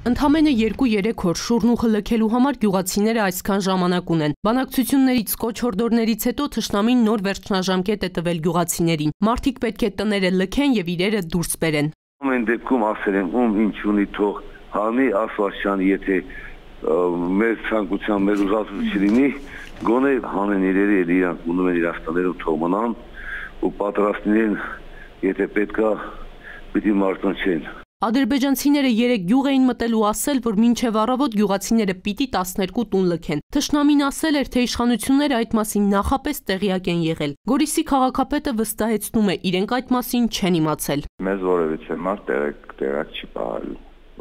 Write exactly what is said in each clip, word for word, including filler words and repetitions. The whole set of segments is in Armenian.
Ընդամենը երկու-երեք օր շուրնուխը լքելու համար գյուղացիները այսքան ժամանակ ունեն։ Բանակցություններից, կոչ-հորդորներից հետո թշնամին նոր վերջնաժամկետ է տվել գյուղացիներին։ Մարդիկ պետք է տները լքեն եւ իրերը դուրս բերեն։ Ամեն դեպքում ասել եմ, ում ինչ ունի թող հանի Ասվածյանը, եթե մեր ցանկության, մեր ուզածություն լինի, գոնե հանեն իրերը, իրանք ունում են իրաց տներում թող մնան ու պատրաստ լինեն, եթե պետքա, պիտի մարտնչեն։ Ադրբեջանցիները երեք գյուղ էին մտել ու ասել, որ մինչև առավոտ գյուղացիները պիտի տասներկու տուն լքեն։ Թշնամին ասել էր, թե իշխանությունները այդ մասին նախապես տեղյակ են եղել։ Գորիսի քաղաքապետը վստահեցնում է, իրենք այդ մասին չեն իմացել։ Մեզ որևիցե մարդ տեղակ չի պահել,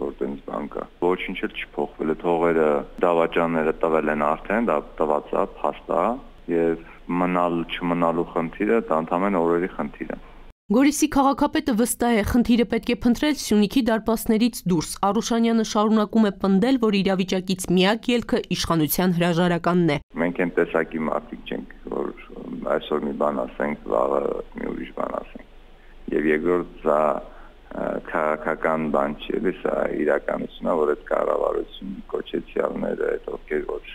որ տենց բան կա։ Ոչինչ էլ չի փոխվել, թողերը, դավաճանները տվել են արդեն, դա տված է, փաստ է, եւ մնալ չմնալու խնդիրը դա ընդհանրեն օրերի խնդիր է։ Գորիսի քաղաքապետը վստահ է, խնդիրը պետք է փնտրել Սյունիքի դարպասներից դուրս։ Արուշանյանը շարունակում է պնդել, որ իրավիճակից միակ ելքը իշխանության հրաժարականն է։ Մենք այն տեսակի մարդիկ չենք, որ այսօր մի բան ասենք, վաղը մի ուրիշ բան ասենք։ Եվ երկրորդ դա քաղաքական բան չի, սա իրականությունն է, որ այդ կառավարություն կոչեցյալները, այդ ովքեր որ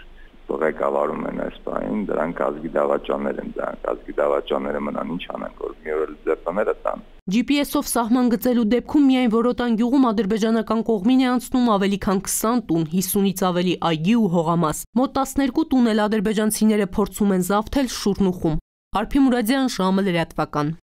ղեկավարում են այս բանին, դրանք ազգի դավաճաններ են, դրանք ազգի դավաճանները մնան ինչ անեն, որ մի օր էլ ձեռները տան։ Ջի Պի Էսով սահման գծելու դեպքում միայն Որոտան գյուղում ադրբեջանական կողմին է անցնում ավելի քան քսան տուն, հիսունից ավելի այգի ու հողամաս։ Մոտ տասներկու տուն էլ ադրբեջանցիները փորձում են զավթել Շուրնուխում։ Արփի Մուրադյան, ժամը լրատվական։